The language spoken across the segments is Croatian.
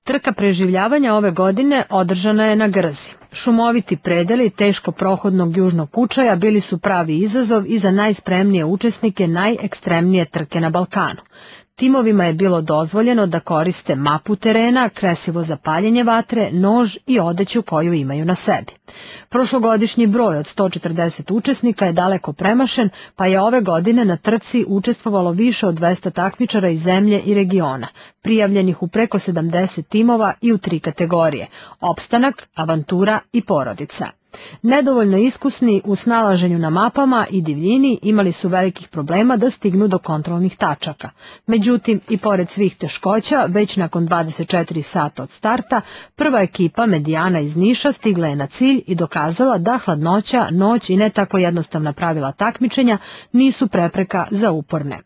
Trka preživljavanja ove godine održana je na Grzi. Šumoviti predeli teško prohodnog južnog Kučaja bili su pravi izazov i za najspremnije učesnike najekstremnije trke na Balkanu. Timovima je bilo dozvoljeno da koriste mapu terena, kresivo za paljenje vatre, nož i odeću koju imaju na sebi. Prošlogodišnji broj od 140 učesnika je daleko premašen, pa je ove godine na trci učestvovalo više od 200 takmičara iz zemlje i regiona, prijavljenih u preko 70 timova i u 3 kategorije – opstanak, avantura i porodica. Nedovoljno iskusni u snalaženju na mapama i divljini imali su velikih problema da stignu do kontrolnih tačaka. Međutim, i pored svih teškoća, već nakon 24 sata od starta, prva ekipa Medijana iz Niša stigla je na cilj i dokazala da hladnoća, noć i ne tako jednostavna pravila takmičenja nisu prepreka za uporne.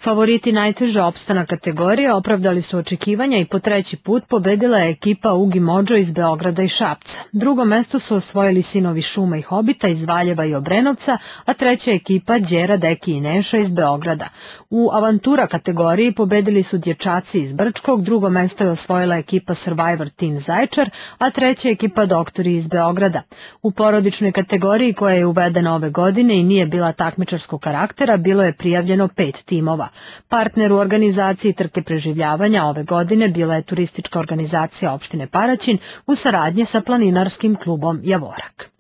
Favoriti najteže opstana kategorije opravdali su očekivanja i po 3. put pobedila je ekipa Ugi Modžo iz Beograda i Šapca. Drugo mesto su osvojili Sinovi šuma i hobita iz Valjeva i Obrenovca, a treća ekipa Đera, Deki i Neša iz Beograda. U avantura kategoriji pobedili su dječaci iz Brčkog, drugo mesto je osvojila ekipa Survivor Team Zaječar, a treća ekipa Doktori iz Beograda. U porodičnoj kategoriji koja je uvedena ove godine i nije bila takmičarskog karaktera, bilo je prijavljeno 5 timova. Partner u organizaciji trke preživljavanja ove godine bila je turistička organizacija opštine Paraćin u saradnji sa planinarskim klubom Javorak.